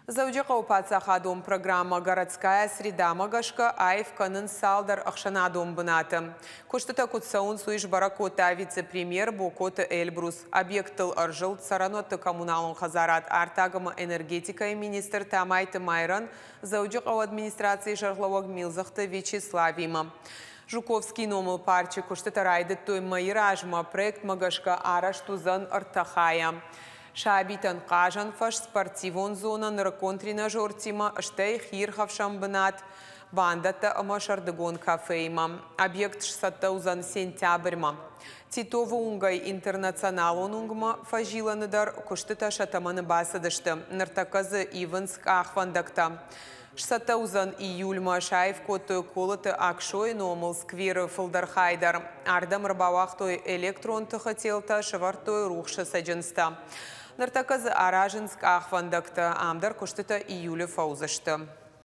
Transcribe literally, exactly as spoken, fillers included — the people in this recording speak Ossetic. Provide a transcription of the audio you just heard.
Дзӕуджыхъӕуы паддзахадон программӕ «Городская среда»-мӕ гӕсгӕ аив кӕнынц цалдӕр ӕхсӕнадон бынаты. Куыстытӕ куыд цӕуынц, уый сбӕрӕг кодта вице-премьер Бокоты Эльбрус. Объекттыл ӕрзылд цӕрӕнуӕтты коммуналон хӕдзарад, артаг ӕмӕ энергетикӕйы министр Тамайты Майрӕн Дзӕуджыхъӕуы администрацийы сӕргълӕууӕг Милдзыхты Вячеславимӕ. Жуковскийы номыл парчы куыстытӕ райдыдтой мӕйы размӕ. Проектмӕ гӕсгӕ арӕзт уыдзӕн ӕртӕ хайӕ. Сабитӕн хъазӕн фӕз, спортивон зонӕ нырыккон тренажертимӕ, стӕй хиирхӕфсӕн бынат, бандӕттӕ ӕмӕ сӕрдыгон кафеимӕ. Объект сцӕттӕ уыдзӕн сентябрьмӕ. Титовы уынгӕй Интернационалон уынгмӕ фӕзилӕны дӕр куыстытӕ сӕ тӕмӕны бацыдысты. Ныртӕккӕ дзы ивынц къахвӕндӕгтӕ. Сцӕттӕ уыдзӕн июльмӕ. Саив кодтой Колыты Аксойы номыл скверы фылдӕр хай дӕр. Ардӕм ӕрбауагътой электрон тыхы телтӕ, сӕвӕрдтой рухсы цӕджындзтӕ. Ныртӕккӕ дзы аразынц къахвӕндӕгтӕ. Ам дӕр куыстытӕ июлы фӕуыдзысты.